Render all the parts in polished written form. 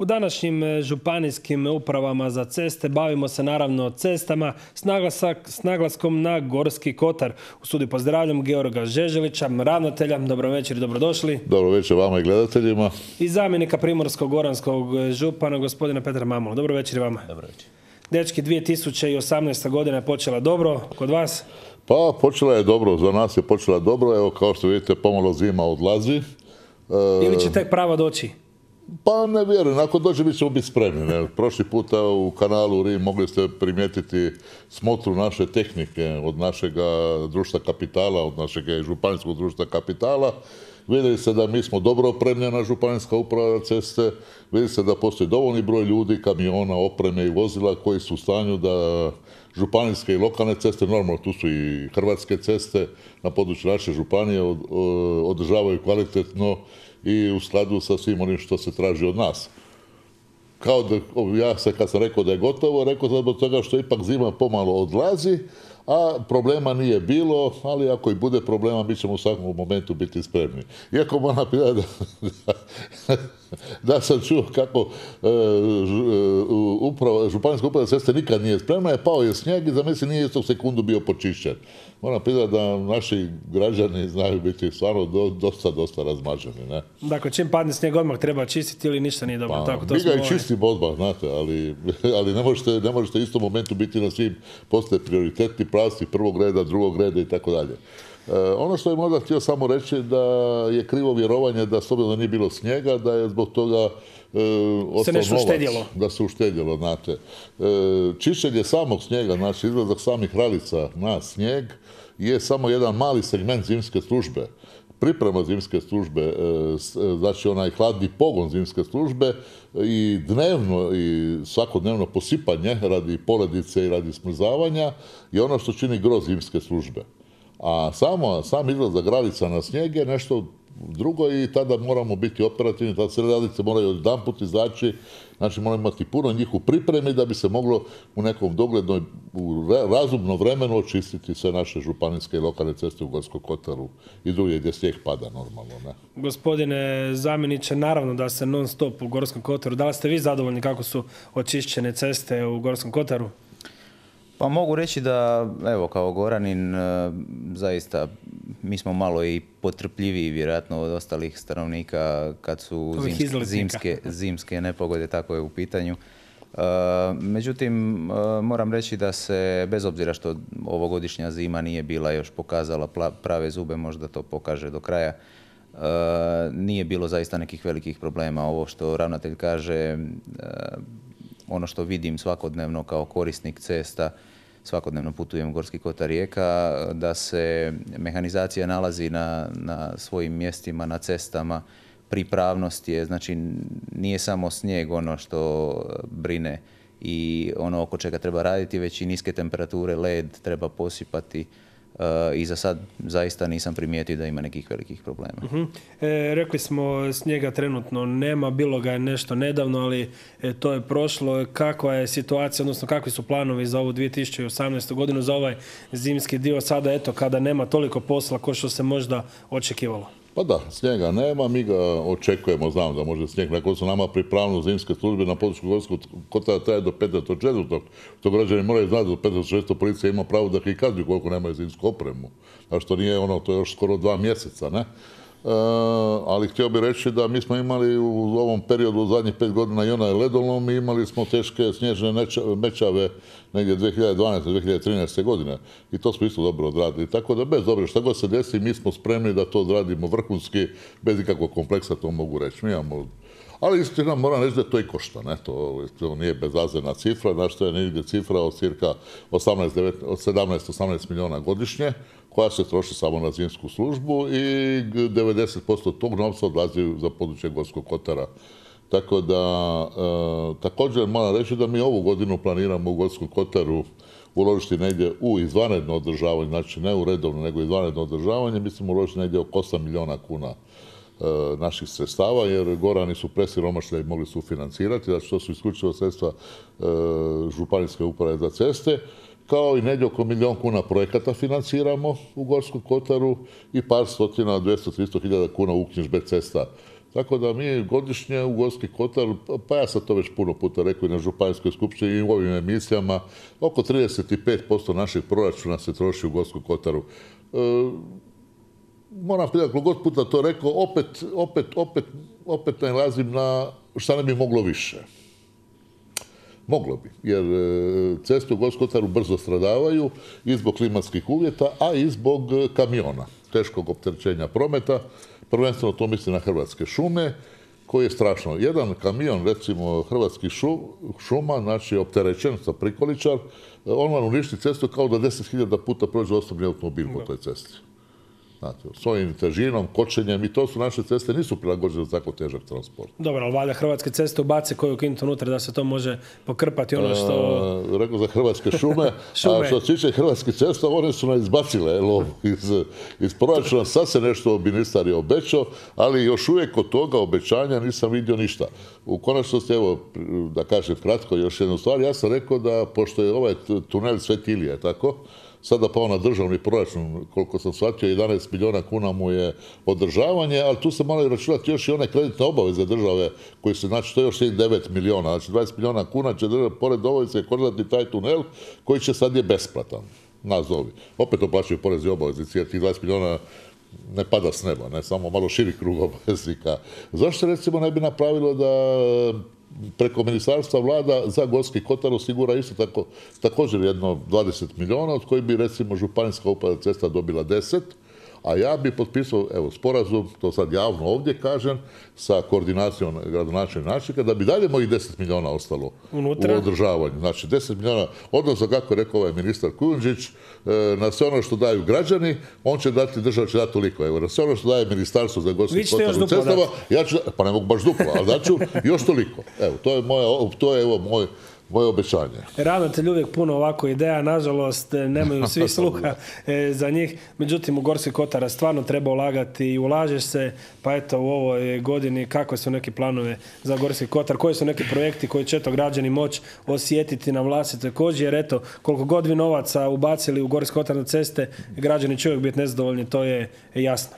U današnjim županijskim upravama za ceste bavimo se naravno cestama s naglaskom na Gorski kotar. U studiju pozdravljam Georga Žeželića, ravnatelja. Dobro večer i dobrodošli. Dobro večer vama i gledateljima. I zamjenika Primorsko-goranskog župana, gospodina Petra Mamula. Dobro večer i vama. Dobro večer. Dečki, 2018. godina je počela dobro kod vas? Pa počela je dobro, za nas je počela dobro. Evo, kao što vidite, pomalo zima odlazi. Ili će tek prava doći? Pa ne vjerujem, ako dođe mi ćemo biti spremni. Ne? Prošli puta u kanalu Rim mogli ste primijetiti smotru naše tehnike od našeg društva kapitala, od našeg županijskog društva kapitala. Vidjeli se da mi smo dobro opremljena županijska uprava za ceste, vidi se da postoji dovoljni broj ljudi, kamiona, opreme i vozila koji su u stanju da županijske i lokalne ceste, normalno tu su i hrvatske ceste na području naše županije, održavaju kvalitetno i u skladu sa svim onim što se traži od nas. Kao da, ja se kad sam rekao da je gotovo, rekao sam zbog toga što ipak zima pomalo odlazi, a problema nije bilo, ali ako i bude problema, mi ćemo u svakom momentu biti spremni. Iako moram pitati da sam čuo kako županijska uprava za ceste nikad nije spremna, je pao je snijeg i za mene nije istog sekundu bio počišćen. Moram pitati da naši građani znaju biti stvarno dosta razmaženi. Ne? Dakle, čim padne snijeg odmah treba čistiti ili ništa nije dobro? Pa, mi ga i čistimo odmah, znate, ali ne možete u istom momentu biti na svim, postoje prioritetni pravci prvog reda, drugog reda i tako dalje. Ono što je možda htio samo reći da je krivo vjerovanje da s obzirom da nije bilo snijega, da je zbog toga ostao novac, da se uštedjelo, znate. Čišćenje samog snijega, znači izlazak samih ralica na snijeg je samo jedan mali segment zimske službe. Priprema zimske službe, znači onaj hladni pogon zimske službe i dnevno i svakodnevno posipanje radi poledice i radi smrzavanja je ono što čini gro zimske službe. A sam izlazak ralica na snijeg je nešto drugo i tada moramo biti operativni, tada se ralice moraju odjedanput izaći, znači moramo imati puno njih u pripremi da bi se moglo u nekom doglednoj, u razumnom vremenu očistiti sve naše županijske i lokalne ceste u Gorskom kotaru i drugdje gdje snijeg pada normalno. Ne? Gospodine zamjeniče, naravno da se non stop u Gorskom kotaru. Da li ste vi zadovoljni kako su očišćene ceste u Gorskom kotaru? Pa mogu reći da, evo, kao Goranin, zaista, mi smo malo i potrpljiviji vjerojatno od ostalih stanovnika kad su zimske nepogode, tako je u pitanju. Međutim, moram reći da se, bez obzira što ovogodišnja zima nije bila još pokazala prave zube, možda to pokaže do kraja, nije bilo zaista nekih velikih problema. Ovo što ravnatelj kaže, ono što vidim svakodnevno kao korisnik cesta, svakodnevno putujem u Gorski kotar Rijeka, da se mehanizacija nalazi na svojim mjestima, na cestama, pripravnost je, znači nije samo snijeg ono što brine i ono oko čega treba raditi, već i niske temperature, led treba posipati. I za sad zaista nisam primijetio da ima nekih velikih problema. Rekli smo snijega trenutno nema, bilo ga je nešto nedavno, ali to je prošlo. Kakva je situacija, odnosno kakvi su planovi za ovu 2018. godinu, za ovaj zimski dio sada, eto, kada nema toliko posla kao što se možda očekivalo? Pa da, snijega nema, mi ga očekujemo, znam da može snijeg, nakon su nama pripravno zimske službe na području Gorskog kotara traje do 15.4. To građani moraju znati da do 15.6. policija ima pravo da ih kazni koliko nemaju zimsku opremu. A što nije ono, to je još skoro 2 mjeseca, ne? Ali htio bih reći da mi smo imali u ovom periodu u zadnjih 5 godina i onaj ledolom i imali smo teške snježne mećave negdje 2012. 2013. godine i to smo isto dobro odradili. Tako da bez dobro, šta god se desi, mi smo spremni da to odradimo vrhunski, bez ikakvog kompleksa, to mogu reći. Mi imamo, ali istina moram reći da to i košta, ne? To nije bezazlena cifra, znači to je negdje cifra od cirka 17-18 milijuna godišnje, koja se troši samo na zimsku službu i 90% tog novca odlazi za područje Gorskog kotara. Tako da, također moram reći da mi ovu godinu planiramo u Gorskom kotaru uložiti negdje u izvanredno održavanje, znači ne u redovno, nego izvanredno održavanje, mislim uložiti negdje oko 8 milijuna kuna naših sredstava, jer Gorani su presiromašni i mogli sufinancirati, znači to su isključivo sredstva županijske uprave za ceste, kao i negdje oko 1 milijun kuna projekata financiramo u Gorskom kotaru i par stotina, 200-300 hiljada kuna uknjižbe cesta Tako da mi godišnje u Gorski kotar, pa ja sam to već puno puta rekao i na županijskoj skupštini i u ovim emisijama, oko 35% našeg proračuna se troši u Gorskom kotaru. Moram pitati, koliko god puta to rekao, opet nalazim na šta ne bi moglo više. Moglo bi, jer ceste u Gorskom kotaru brzo stradavaju i zbog klimatskih uvjeta, a i zbog kamiona, teškog opterećenja prometa. Prvenstveno to misli na Hrvatske šume, koji je strašno. Jedan kamion, recimo Hrvatskih šuma, znači opterećen sa prikoličar, on vam uništi cestu kao da 10.000 puta prođe osobni automobil po toj cesti. Znate, svojim težinom, kočenjem, i to su naše ceste, nisu prilagođene za tako težak transport. Dobro, ali valjda Hrvatske ceste ubace koju kintu unutra da se to može pokrpati ono što... Rekao za Hrvatske šume, a što se tiče Hrvatskih cesta, one su nas izbacile iz proračuna. Sad se nešto ministar je obećao, ali još uvijek od toga obećanja nisam vidio ništa. U konačnosti, evo, da kažem kratko još jednu stvar, ja sam rekao da, pošto je ovaj tunel Sveti Ilija, tako, sada pao na državni proračun, koliko sam shvatio, 11 milijuna kuna mu je održavanje, ali tu se moraju računati još i one kreditne obaveze države, koji se, znači, to je još 9 milijuna, znači 20 milijuna kuna će država pored obaveze koristiti taj tunel, koji će sad je besplatan, nazovi. Opet oplaćaju porezi obaveze, jer tih 20 milijuna ne pada s neba, ne, samo malo širi krug obveznika. Zašto recimo ne bi napravilo da preko ministarstva vlada za Gorski kotar osigura isto također jedno 20 milijuna, od kojih bi recimo županijska uprava cesta dobila 10, a ja bi potpisao, evo, sporazum, to sad javno ovdje kažem, sa koordinacijom gradonačelnika, da bi dalje mojih 10 milijuna ostalo unutra u održavanju. Znači 10 milijuna, odnosno kako je rekao ovaj ministar Kujundžić, na sve ono što daju građani, on će dati, država će dati toliko. Evo, na sve ono što daje ministarstvo za Gorski kotar u cestama, ja ću, pa ne mogu baš duplo, ali daću još toliko. Evo, to je moje obećanje. Ravnatelj uvijek puno ovako ideja, nažalost nemaju svi sluha za njih, međutim u Gorski kotar stvarno treba ulagati i ulažeš se, pa eto u ovoj godini kakve su neki planove za Gorski kotar, koji su neki projekti koji će to građani moći osjetiti na vlastitoj koži, jer eto koliko god vi novaca ubacili u Gorski kotar na ceste, građani će uvijek biti nezadovoljni, to je jasno.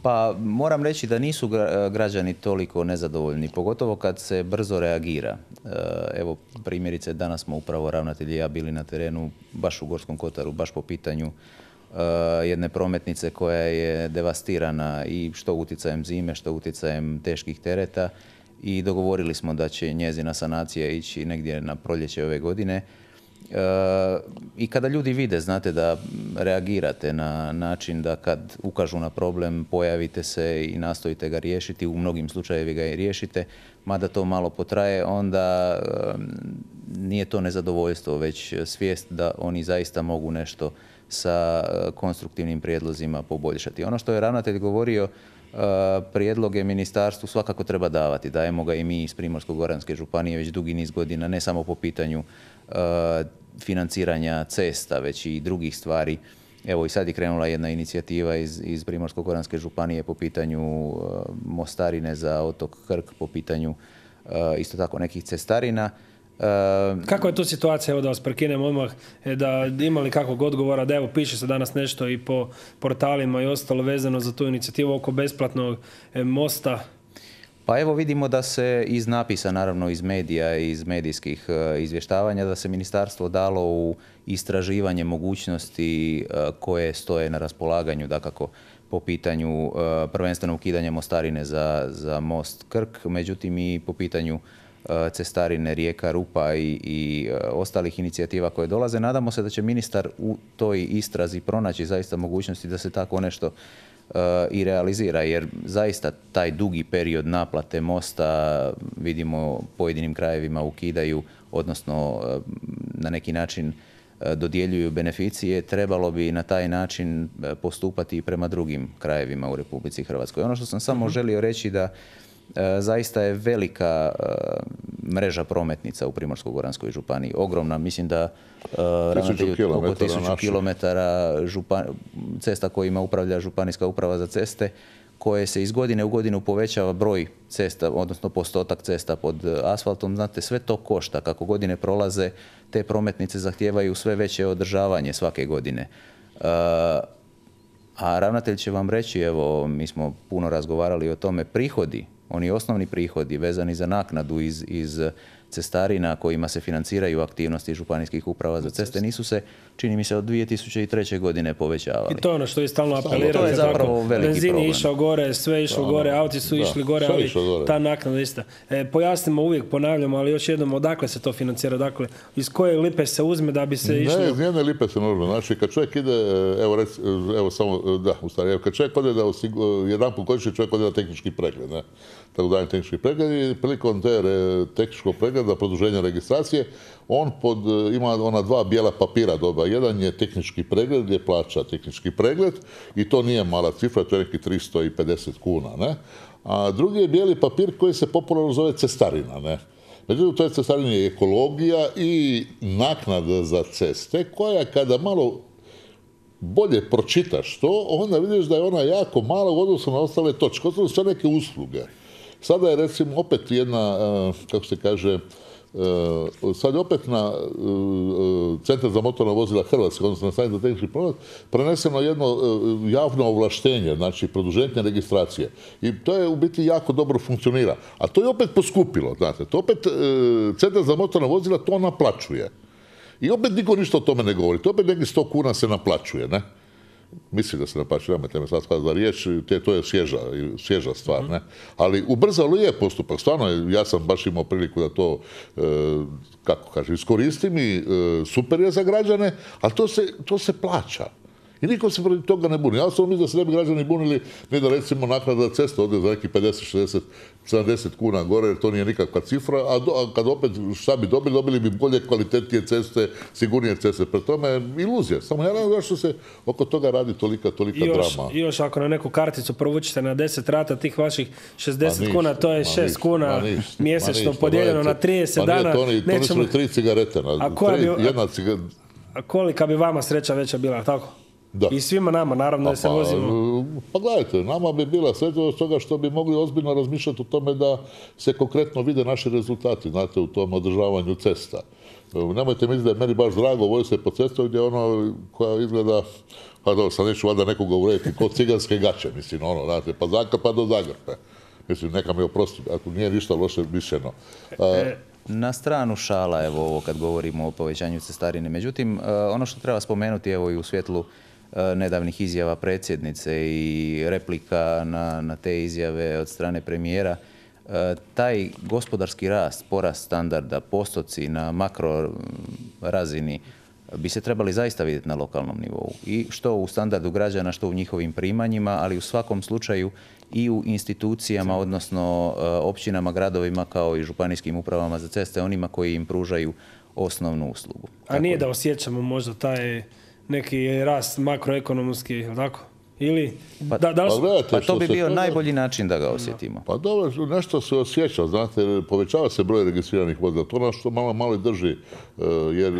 Pa moram reći da nisu građani toliko nezadovoljni, pogotovo kad se brzo reagira. Evo, primjerice, danas smo upravo ravnatelj i ja bili na terenu, baš u Gorskom kotaru, baš po pitanju jedne prometnice koja je devastirana i što utjecajem zime, što utjecajem teških tereta, i dogovorili smo da će njezina sanacija ići negdje na proljeće ove godine. I kada ljudi vide, znate, da reagirate na način da kad ukažu na problem, pojavite se i nastojite ga riješiti, u mnogim slučajevima ga i riješite, mada to malo potraje, onda nije to nezadovoljstvo, već svijest da oni zaista mogu nešto sa konstruktivnim prijedlozima poboljšati. Ono što je ravnatelj govorio, prijedloge ministarstvu svakako treba davati. Dajemo ga i mi iz Primorsko-goranske županije već dugi niz godina, ne samo po pitanju financiranja cesta, već i drugih stvari. Evo i sad je krenula jedna inicijativa iz Primorsko-goranske županije po pitanju mostarine za otok Krk, po pitanju isto tako nekih cestarina. Kako je tu situacija, evo da vas prekinem odmah, da imali kakvog odgovora, da evo piše se danas nešto i po portalima i ostalo vezano za tu inicijativu oko besplatnog mosta? Pa evo vidimo da se iz napisa, naravno iz medija i iz medijskih izvještavanja, da se ministarstvo dalo u istraživanje mogućnosti koje stoje na raspolaganju, dakako po pitanju prvenstveno ukidanja mostarine za most Krk, međutim i po pitanju cestarine Rijeka, Rupa i ostalih inicijativa koje dolaze. Nadamo se da će ministar u toj istrazi pronaći zaista mogućnosti da se tako nešto i realizira, jer zaista taj dugi period naplate mosta vidimo pojedinim krajevima ukidaju, odnosno na neki način dodjeljuju beneficije. Trebalo bi na taj način postupati i prema drugim krajevima u Republici Hrvatskoj. Ono što sam samo želio reći da zaista je velika mreža prometnica u Primorsko-goranskoj županiji. Ogromna, mislim da oko 1000 kilometara cesta kojima upravlja županijska uprava za ceste, koje se iz godine u godinu povećava broj cesta, odnosno postotak cesta pod asfaltom. Znate, sve to košta. Kako godine prolaze, te prometnice zahtijevaju sve veće održavanje svake godine. A ravnatelj će vam reći, evo, mi smo puno razgovarali o tome, prihodi, oni osnovni prihodi vezani za naknadu iz cestarina kojima se financiraju aktivnosti županijskih uprava za ceste nisu se, čini mi se, od 2003. godine povećavali. I to je ono što je stalno apelirali. To je zapravo veliki benzin problem. je išao gore, sve je išlo gore, auti su išli gore, ali ta naknada ista. Pojasnimo, uvijek ponavljamo, ali još jednom, odakle se to financira? Dakle, iz koje lipe se uzme da bi se išlo? Ne, iz jedne lipe se možemo. Znači, kad čovjek ide, kad čovjek ode da jedanput godišnje čovjek ode na tehnički pregled, ne? Tako da je tehnički pregled i prilikom te tehničkog pregleda, produženja registracije, on ima ona dva bijela papira doba. Jedan je tehnički pregled gdje plaća tehnički pregled i to nije mala cifra, to je neki 350 kuna, ne? A drugi je bijeli papir koji se popularno zove cestarina, ne? Međutim, u toj cestarini je ekologija i naknada za ceste koja kada malo bolje pročitaš to, onda vidiš da je ona jako mala u odnosu na ostale točke. To su sve neke usluge. Sada je recimo opet jedna, kako se kaže, sad je opet na Centar za motorna vozila Hrvatske, odnosno na Stanicu za tehnički promet, preneseno jedno javno ovlaštenje, znači produženje registracije. I to je u biti jako dobro funkcionira. A to je opet poskupilo, znate. To opet Centar za motorna vozila to naplaćuje. I opet niko ništa o tome ne govori. To opet nekih 100 kuna se naplaćuje, ne? Mislim da se naplaćuje, nemojte me sad skladati za riječ, to je svježa stvar, ne? Ali ubrzalo je postupak. Stvarno, ja sam baš imao priliku da to, kako kažem, iskoristim i super je za građane, ali to se plaća. I niko se protiv toga ne buni. Ja sam mislim da se ne bi građani bunili ni da recimo naknada za cestu ode za neki 50, 60, 70 kuna gore, jer to nije nikakva cifra, a kad opet šta bi dobili bi bolje, kvalitetnije ceste, sigurnije ceste. Pre tome iluzija. Samo ja ne znam zašto se oko toga radi tolika drama. I još ako na neku karticu provučite na 10 rata tih vaših 60 kuna, to je 6 kuna mjesečno podijeljeno na 30 dana. To nisu 3 cigarete. A kolika bi vama sreća veća bila, tako? Da. I svima nama, naravno, da se vozimo. Pa gledajte, nama bi bila sreća od toga što bi mogli ozbiljno razmišljati o tome da se konkretno vide naši rezultati, znate, u tom održavanju cesta. Nemojte misliti da je meni baš drago voziti se po cestu gdje ono koja izgleda, pa dobro, sad neću valjda nekoga uvrediti, kod ciganske gaće, mislim, ono, znate, pa Zagrpa do Zagrpe. Mislim, neka mi oprosti, ako nije ništa loše mišljeno. Na stranu šala, evo ovo kad govorimo o povećanju cestarine. Međutim, ono što treba spomenuti, evo i u svjetlu nedavnih izjava predsjednice i replika na te izjave od strane premijera, taj gospodarski rast, porast standarda, postoci na makro razini bi se trebali zaista vidjeti na lokalnom nivou. I što u standardu građana, što u njihovim primanjima, ali u svakom slučaju i u institucijama, odnosno općinama, gradovima kao i županijskim upravama za ceste, onima koji im pružaju osnovnu uslugu. A nije da osjećamo možda taj neki rast makroekonomski, tako? Ili, pa to bi bio najbolji način da ga osjetimo. Pa dobro, nešto se osjeća, znate, povećava se broj registriranih vozila. To nas što malo i drži, jer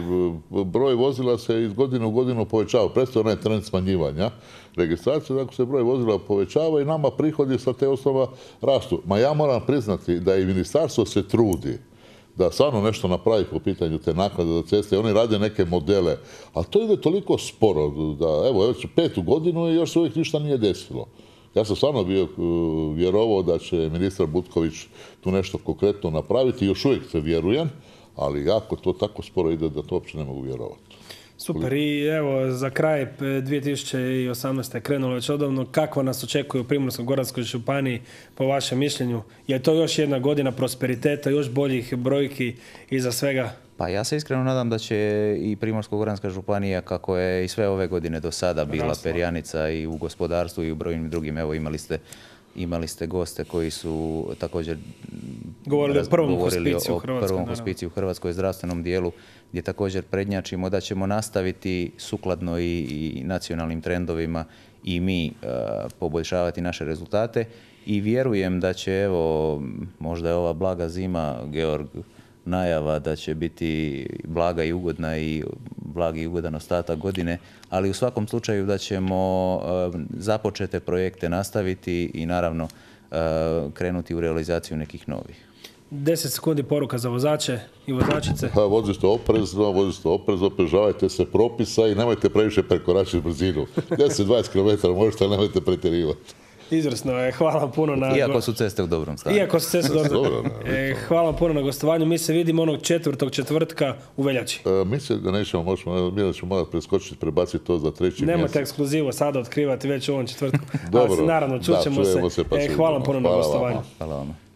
broj vozila se iz godine u godinu povećava. Prestaje onaj trend smanjivanja registracije, dakle se broj vozila povećava i nama prihodi sa te osnova rastu. Ma ja moram priznati da i ministarstvo se trudi da stvarno nešto napravi po pitanju te naknade za ceste. Oni rade neke modele, ali to ide toliko sporo da, evo, već 5. godinu i još se uvijek ništa nije desilo. Ja sam stvarno bio vjerovao da će ministar Butković tu nešto konkretno napraviti, još uvijek se vjerujem, ali jako to tako sporo ide da to uopće ne mogu vjerovati. Super, i evo za kraj 2018. je krenulo već odavno. Kako nas očekuje u Primorsko-goranskoj županiji po vašem mišljenju? Je to još jedna godina prosperiteta, još boljih brojki iza svega? Pa ja se iskreno nadam da će i Primorsko-goranska županija, kako je i sve ove godine do sada bila perjanica i u gospodarstvu i u brojnim drugim, evo imali ste goste koji su također govorili o prvom hospiciju u Hrvatskoj zdravstvenom dijelu, gdje također prednjačimo da ćemo nastaviti sukladno i nacionalnim trendovima i mi poboljšavati naše rezultate i vjerujem da će, evo, možda je ova blaga zima, Georg, najava da će biti blaga i ugodna i blagi i ugodan ostatak godine, ali u svakom slučaju da ćemo započete projekte nastaviti i naravno krenuti u realizaciju nekih novih. 10 sekundi poruka za vozače i vozačice. Vozite oprezno, pridržavajte se propisa i nemojte previše prekoračiti brzinu. 10-20 km možete, ali nemojte pretjerivati. Izvrsno je, hvala puno na... Iako su ceste u dobrom stanju. Hvala vam puno na gostovanju. Mi se vidimo onog četvrtka u veljači. Mislim da nećemo, mi ćemo morati preskočiti, prebaciti to za 3. mjesec. Nemojte ekskluzivu sada otkrivati već u ovom četvrtku. Dobro. Naravno, čućemo se. Pa hvala vam puno na gostovanju. Hvala vam.